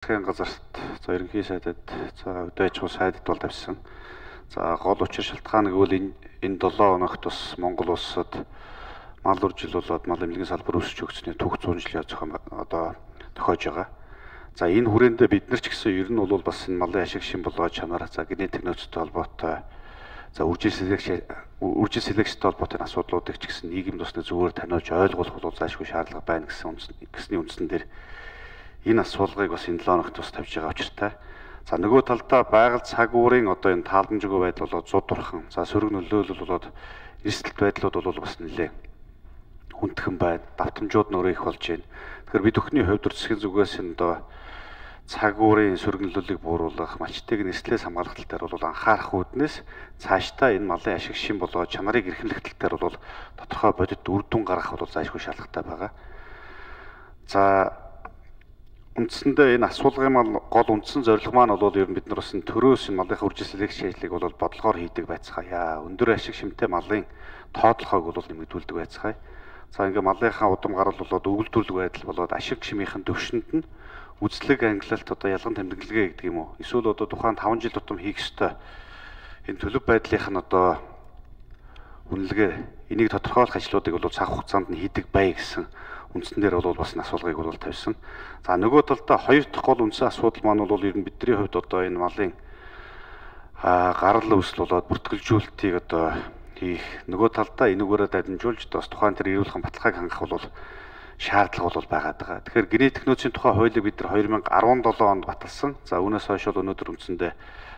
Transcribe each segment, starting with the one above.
Засгийн газарт за ерөнхий сайдад за өдөө аж ахуй сайдд бол тавьсан. За гол учир шалтгаан гэвэл энэ 7 хоногт бас Монгол улсад мал үржил болоод мал эмнэлгийн салбар өсөж өгснээр түүх 100 жилийн зохион одоо тохиож байгаа. За энэ хүрээндээ бид нар ч гэсэн ер нь бол бас энэ малын ашиг шин болоо чанар за генетик нөөцтэй холбоотой за үржил селекцтэй холбоотой асуудлуудыг ч гэсэн нийгэм тусны зүгээр таниулж ойлгуулах бол заашгүй шаардлага байна гэсний үндсэн дээр энэ асуулгыг бас энэ 7 хоногт бас тавьж байгаа учиртай. За нөгөө талдаа байгаль цаг уурын одоо энэ таалмжгүй байдал болоод зуд турхан, за сөрөг нөлөөлөл болоод эрсдэлт байдлууд бол бас нэлээ хүндхэн байна. Давтамжууд нөрөө их болж байна. Тэгэхээр бид бүхний хувьд засгийн зүгээс энэ одоо цаг уурын сөрөг нөлөөллийг бууруулах, малчтыг нэрслээс хамгаалах тал дээр бол анхаарах үүднээс цаашдаа энэ малын ашиг шин болоо чанарыг эрхэмлэх тал дээр бол тодорхой бодит үр дүн гаргах бол заашгүй шаардлагатай байгаа. За үндсэндээ энэ асуулгын гол үндсэн зорилго маань бол ер нь бид нар бас энэ төрөөс энэ малынхаа үржил селекц ажлыг бол бодлогоор хийдэг байцгаая. Өндөр ашиг шимтэй малын тоотлогоог бол нэмэгдүүлдэг байцгаая. За ингээ малынхаа удам гарал болоод өвөлдвөрлөг байдал болоод ашиг шимийнхэн төвшөнд нь үзлэг ангилалт одоо ялган тэмдэглэгээ гэдэг юм уу? Эсвэл одоо тухайн 5 жил тутам хийх ёстой энэ төлөв байдлынх нь одоо үнэлгээ энийг тодорхойлох ажлуудыг бол цаг хугацаанд нь хийдэг бай гэсэн үндсэн дээр бол бас асуулгыг бол тавьсан. За нөгөө талдаа хоёр дахь гол үндсэн асуудал маань бол ер нь бидний хувьд одоо энэ малын гарал үүсэл болоод бүртгэлжүүлэлтийг одоо хийх нөгөө талдаа энэгээрээ дамжуулж бас тухайн тэр эрүүлхэн баталгааг хангах бол шаардлага бол байгаад байгаа. Тэгэхээр генетик нөөцийн тухай хуулийг бид нар 2017 онд баталсан. За үүнээс хойш бол өнөөдөр үндсэндээ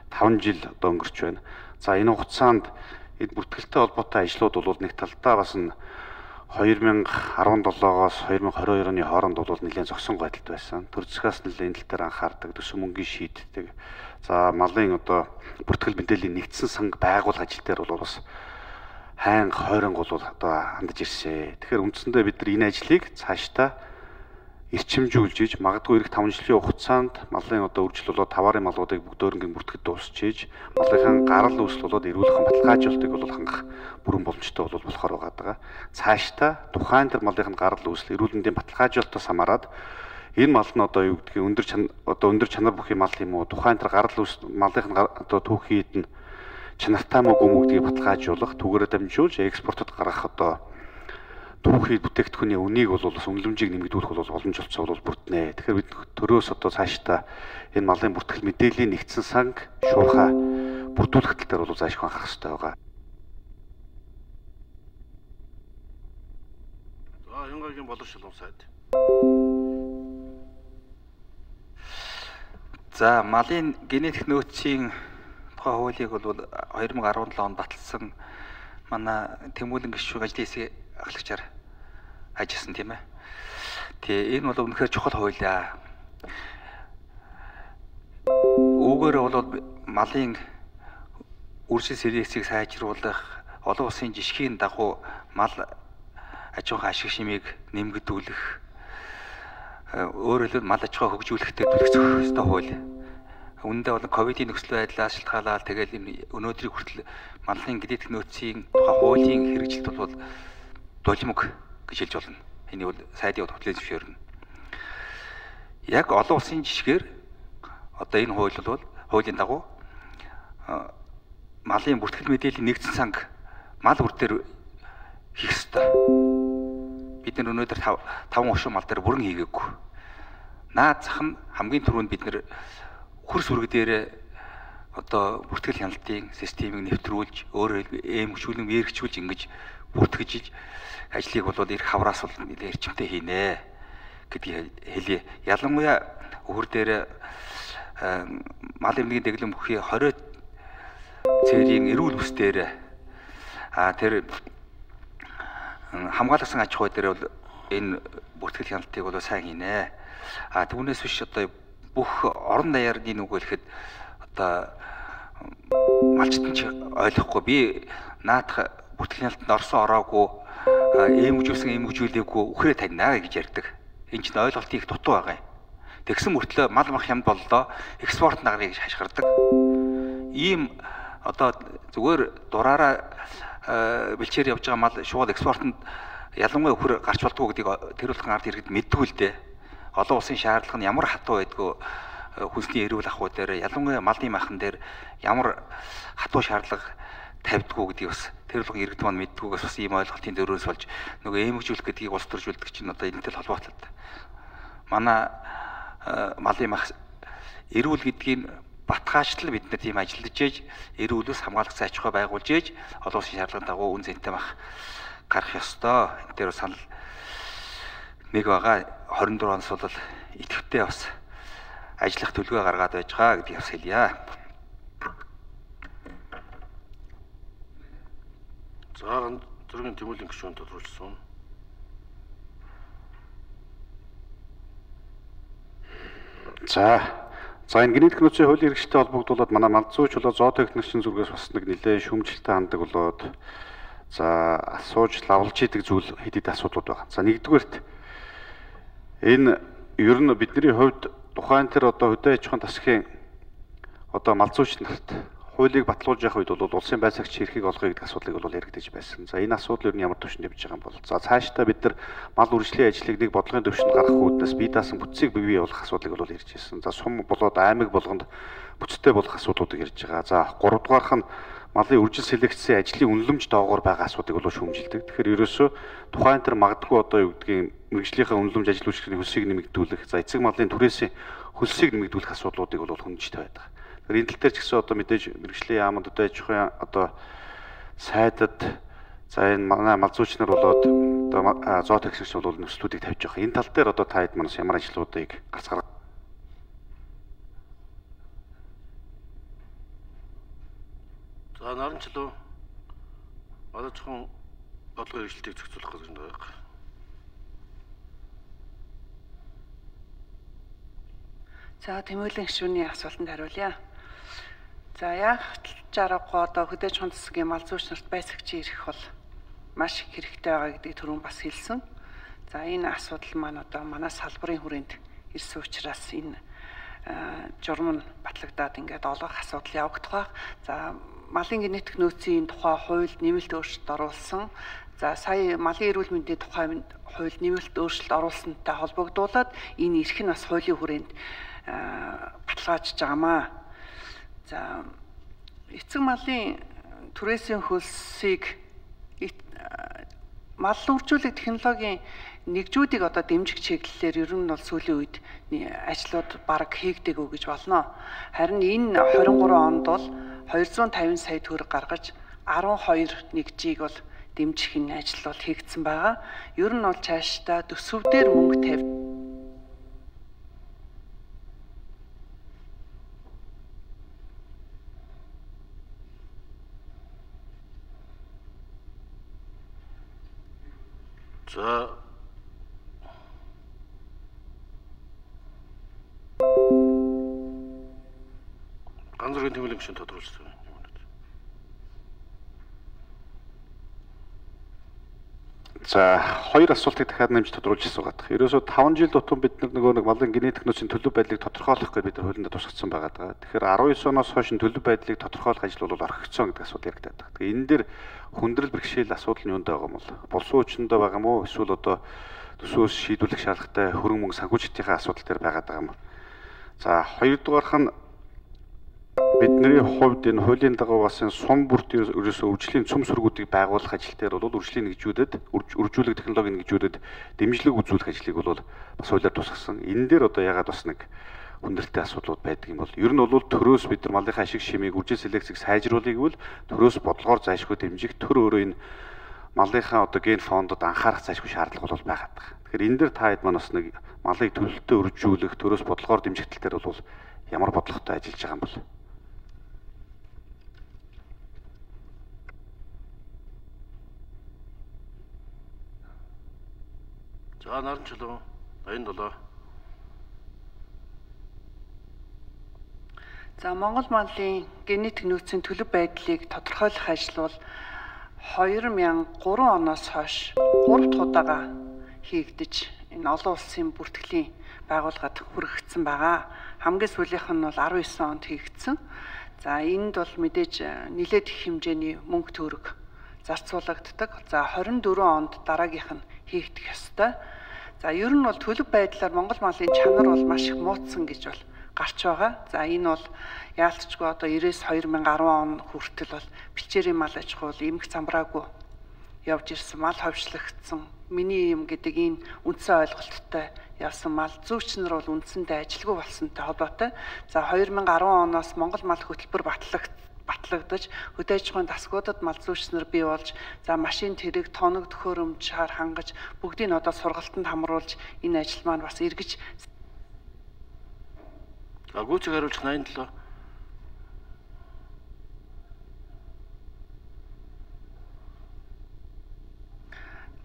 5 жил одоо өнгөрч байна. За энэ хугацаанд энэ бүртгэлтэй холбоотой ажлууд бол нэг талдаа бас нь 2017-оос 2022 оны хооронд бол нэлээд зогсон байдалд байсан. Төр засгаас нэлээд энэ тал дээр анхаардаг, төсөв мөнгөний шийддэг. За малын одоо бүртгэл мэдээллийн нэгдсэн санг байгуулах ажил дээр бол бас хайнга хойрон бол одоо хандаж ирсэн. Тэгэхээр үндсэндээ бид нар энэ ажлыг цаашдаа эрчимжүүлж иж магадгүй эх 5 жилийн хугацаанд малын одоо үржил болоод таварын малуудыг бүгдөөрнгийн бүртгэд дуусч иж малынхаа гарал үүсэл болоод эрүүлхэн баталгаажуултыг бол хангах бүрэн боломжтой болохоор байгаа. Цаашдаа тухайн тэр малынхаа гарал үүсэл эрүүлэндийн баталгаажуулалтаас хамаарат энэ мал нь одоо юу гэдгийг өндөр чанар бүхий мал юм уу тухайн тэр гарал үүсэл малынхаа одоо түүхийд нь чанартай мөг өмгдгийг баталгаажуулах түүгээрээ дамжуулж экспортод гаргах одоо түүхий бүтээгдэхүүний үнийг бол бас үнэлэмжийг нэмэгдүүлэх бол боломжтой бол бүрднэ. Тэгэхээр бид төрөөс одоо цаашдаа энэ малын бүртгэл мэдээллийн нэгдсэн санг шуурхаа бүрдүүлэх тал дээр бол заашгүй анхаарах хэрэгтэй байгаа. За Янгагийн боловсролын сайд. За малын генетик нөөцийн тухай хуулийг бол 2017 онд баталсан манай Тэмүүлэн гишүүн ажлын хэсгийн ахлагчаар ажилласан тийм ээ. Тэгээ энэ бол үнэхээр чухал хуулиа. Үүгээр бол малын үржил селекцийг сайжруулах, олон улсын жишгийн дагуу мал аж ахуйн ашиг шимийг нэмэгдүүлэх, өөрөөр хэлбэл мал аж ахуй хөгжүүлэхдээ төлөвлөх ёстой хууль. Үүндээ бол ковидын нөхцөл байдлаас шалтгаалаад тэгэл энэ өнөөдрийн хүртэл малын генетик нөөцийн тухай хуулийн хэрэгжилт бол дулимг гэж хэлж болно. Энийг бол сайдын хөтөлбөрийн зөвшөөрнө. Яг олон улсын жишгээр одоо энэ хууль бол хуулийн дагуу малын бүртгэл мэдээллийн нэгдсэн санг мал үр дээр хийх ёстой. Бид нар өнөөдөр 5 оршин мал дээр бүрэн хийгээгүй. Наад зах нь хамгийн түрүүнд бид нар хөрс үрэг дээр одоо бүртгэл хяналтын системийг нэвтрүүлж өөрөөр эмгчүүлэн мэрэгчүүлж ингэж бүртгэж ажлыг бол ирэх хавраас бол нэлээд эрчимтэй хийнэ гэдгийг хэлье. Ялангуяа өвөр дээр мал эмнэлгийн дэглэм бүхий 20 цэрийн эрүүл бүс дээр тэр хамгаалсан аж ахуй дээр бол энэ бүртгэл хяналтыг бол сайн хийнэ. Түүнээс биш одоо бүх орон даяарны нүг хэлэхэд одоо малчтан ч ойлгохгүй би наадах бүртгэл хяналтанд орсон ороогүй эмгжүүлээгүй үхрээ таньнаа гэж ярьдаг. Энэ чинь ойлголт их дутуу байгаа юм. Тэгсэн мөртлөө мал мах хямд боллоо экспорт нагрыг хашгирдаг. Ийм одоо зүгээр дураараа бэлчээр явж байгаа мал шууд экспортод ялангуяа өхөр гарч болдгоо гэдгийг тэр улсын ард иргэд мэддэг л дээ. Олон улсын шаардлага нь ямар хатуу байдгүй хүнсний эрүүл ахуй дээр ялангуяа малын махан дээр ямар хатуу шаардлага тавьдгүү гэдгийг бас тэр болгон иргэд маань мэддгүйгээс бас ийм ойлголтын дөрөөс болж нөгөө эмгэгжүүлэх гэдгийг улс төржүүлдэг чинь одоо энэтэй холбоотой. Манай малын мах эрүүл гэдгийг батгаачлал бид нар тийм ажиллаж ээж эрүүлээс хамгаалах зай аж ахуй байгуулж ээж олон улсын шаардлагын дагуу үн цэнтэй мах гарах ёстой. Энэ дээр санал нэг байгаа 24 оноос бол идэвхтэй бас ажиллах төлөвөө гаргаад байж байгаа гэдгийг бас хэлье. За зөргийн тэмүүлэн гишүүн тодруулсан. За энэ генетик нөөцийн хуулийн хэрэгжтэй холбогдуулаад манай малзууч болоо зоотехникчийн зүргээс бас нэг нэлээд шүүмжлэлтэй хандаг болоод за асууж лавлж идэг зүйл хэд хэд асуудлууд байгаа. За нэгдүгээрт энэ ер нь бидний хувьд тухайн тэр одоо хөдөө аж ахуйн засгийн одоо малзууч нарт хуулийг батлуулж явах үед бол улсын байцаагч хэрхийг олгоё гэдэг асуудлыг бол яригдаж байсан. За энэ асуудал ер нь ямар төвшөнд явж байгаа юм бол за цаашдаа бид нар мал үржлийн ажлыг нэг бодлогын төвшөнд гаргах үүднээс бие даасан бүтцийг бий болгох асуудлыг бол ярьж ирсэн. За сум болоод аймаг болгонд бүтцтэй болох асуудлуудыг ярьж байгаа. За 3 дугаарх нь малын үржил селекцийн ажлын үнэлэмж доогоор байгаа асуудыг бол шүүмжилдэг. Тэгэхээр ерөөсөө тухайн тэр магадгүй одоо юу гэдгийг мэрэгжлийнхаа үнэлэмж ажил үйлчлэгийн хөлсийг нэмэгдүүлэх, за эцэг малын түрээсийн хөлсийг нэмэгдүүлэх асуудлуудыг бол хүндчтэй байдаг. Энэ тал дээр ч гэсэн одоо мэдээж мэрэгжлийн яамд одоо аж ахуйн одоо сайдад за энэ манай малзууч нар болоод одоо зоотехникч бол нөхцлүүдийг тавьж байгаа. Энэ тал дээр одоо та хэд манаас ямар ажлуудыг гарц гаргах. За наранчлуу манай зөвхөн бодлогын хэрэгжилтийг зохицуулах гэж байна. За тэмүүлэн гишүүний асуултанд хариулъя. За яг жаргагүй одоо хөдөө аж ахуйн засгийн малзууч нарт байцаагч ирэх бол маш их хэрэгтэй байгаа гэдгийг түрүүн бас хэлсэн. За энэ асуудал маань одоо манай салбарын хүрээнд ирсэн учраас энэ журам нь батлагдаад ингээд олох асуудал явагдах байх. За малын генетик нөөцийн тухай хуульд нэмэлт өөрчлөлт оруулсан. За сая малын эрүүл мэндийн тухай хуульд нэмэлт өөрчлөлт оруулсантай холбогдуулаад энэ эрх нь бас хуулийн хүрээнд баталгаажж байгаамаа. За эцэг малын түрээсийн хөлсийг мал үржүүлэх технологийн нэгжүүдийг одоо дэмжих чиглэлээр ер нь бол сүүлийн үед ажлууд бараг хийгдэггүй гэж болно. Харин энэ 23 онд бол 250 сая төгрөг гаргаж 12 нэгжийг бол дэмжих энэ ажил бол хийгдсэн байгаа. Ер нь бол цаашдаа төсөв дээр мөнгө тавьж За ганцхан тэмүүлэн гишүүн тодруулсан. За хоёр асуултыг дахиад нэмж тодруулж асуугаад. Ерөөсөө 5 жил тутам бид нөгөө нэг малын генетик нөөцийн төлөв байдлыг тодорхойлох гэдэг бид нар хуулинд тусгацсан байгаа. Тэгэхээр 19 оноос хойш төлөв байдлыг тодорхойлох ажил бол орхигдсон гэдэг асуудал яригдаад байна. Тэгэхээр энэ дээр хүндрэл бэрхшээл асуудал нь юунд байгаа юм бол булсан хүчиндээ байгаа юм уу? Эсвэл одоо төсвөөс шийдвэрлэх шаардлагатай хөрөнгө мөнгө санхүүжилтийн асуудал дээр байгаа юм. За хоёрдугаарх нь бидний хувьд энэ хуулийн дагуу бас энэ сум бүрт ерөөсөө үржлийн цөм сүргүүдийг байгуулах ажил дээр бол үржлийн нэгжүүдэд үржүүлэг технологийн нэгжүүдэд дэмжлэг үзүүлэх ажлыг бол бас хуулиар тусгасан. Энэ дээр одоо ягаад бас нэг хүндрэлтэй асуудлууд байдаг юм бол ер нь бол төрөөс бид нар малынхаа ашиг шимийг үржил селекцийг сайжруулах гэвэл төрөөс бодлогоор зайлшгүй дэмжих төр өөрөө энэ малынхаа одоо ген фондод анхаарах зайлшгүй шаардлага бол байгаад байгаа. Тэгэхээр энэ дээр та хэд маань бас нэг малыг төлөлтөд үржүүлэх төрөөс бодлогоор дэмжих тал дээр бол ямар бодлоготой ажиллаж байгаа юм бол За наранчлуу 87. За Монгол малын генетик нөөцийн төлөв байдлыг тодорхойлох ажил бол 2003 оноос хойш 3 дахь удаага хийгдэж энэ олон улсын бүртгэлийн байгууллагад хүргэгдсэн байгаа. Хамгийн сүүлийнх нь бол 19 онд хийгдсэн. За энд бол мэдээж нэлээд их хэмжээний мөнгө төгрөг зарцуулагддаг. За 24 онд дараагийнх нь хийгдэх ёстой. За ер нь бол төлөв байдлаар Монгол малын чанар бол маш их муутсан гэж бол гарч байгаа. За энэ бол яалтчгүй одоо 2010 он хүртэл бол бэлчээрийн мал аж ахуй эмх замбраагүй явж ирсэн, мал ховшлогдсон. Миний юм гэдэг энэ үндсэн ойлголттой явсан мал зүйчнэр бол үндсэндээ ажилгүй болсонтой холбоотой. За 2010 оноос Монгол мал хөтөлбөр батлагдаж хөдөө аж ахуйн тасгуудад мал зүйчнэр бий болж за машин тэрэг тоног төхөөрөмж шаар хангаж бүгдийг нь одоо сургалтанд хамруулж энэ ажил маань бас эргэж гүйцэг хариулж 87.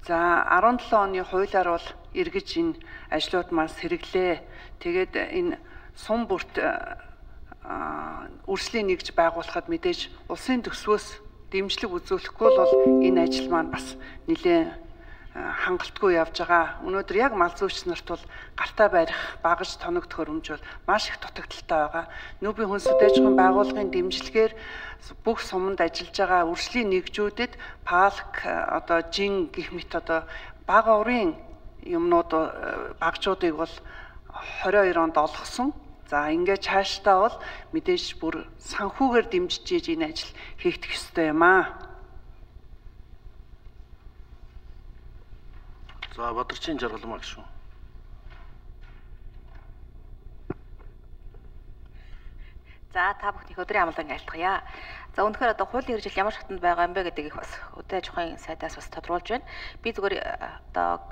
За 17 оны хуулиар бол эргэж энэ ажлууд маань сэргэлээ. Тэгээд энэ сум бүрт үржлийн нэгж байгуулахад мэдээж улсын төсвөөс дэмжлэг үзүүлэхгүй бол энэ ажил маань бас нэлээд хангалтгүй явж байгаа. Өнөөдөр яг мал зүйч нарт бол гартаа барих, багаж тоног төхөөрөмж бол маш их дутагдaltaй байгаа. Нүүбийн хүн сүдэж ахуйн байгууллагын дэмжлэгээр бүх суманд ажиллаж байгаа үржлийн нэгжүүдэд палк одоо жин гэх мэт одоо бага урын юмнууд багжуудыг бол 22 онд олгосон. За ингээд цаашдаа бол мэдээж бүр санхүүгээр дэмжиж ийж энэ ажил хийгдэх ёстой юм аа. За Бадарчин Жаргалмаа гişүн. За та бүхний өдрийн амлан айлтгая. За үнэхээр одоо хуулийн хэрэгжил ямар шатнд байгаа юм бэ гэдгийг бас хөдөө аж ахуйн сайдаас бас тодруулж байна. Би зүгээр одоо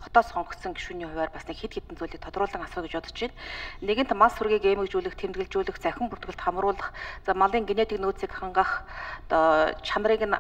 хотоос сонгогдсон гишүүний хувьар бас нэг хэд хэдэн зүйлийг тодруулан асууя гэж бодож байна. Нэгэнт мас сүргийг эмгэгжүүлэх, тэмдэглэжүүлэх, захин бүртгэлд хамруулах, за малын генетик нөөцийг хангах, одоо чанарыг нь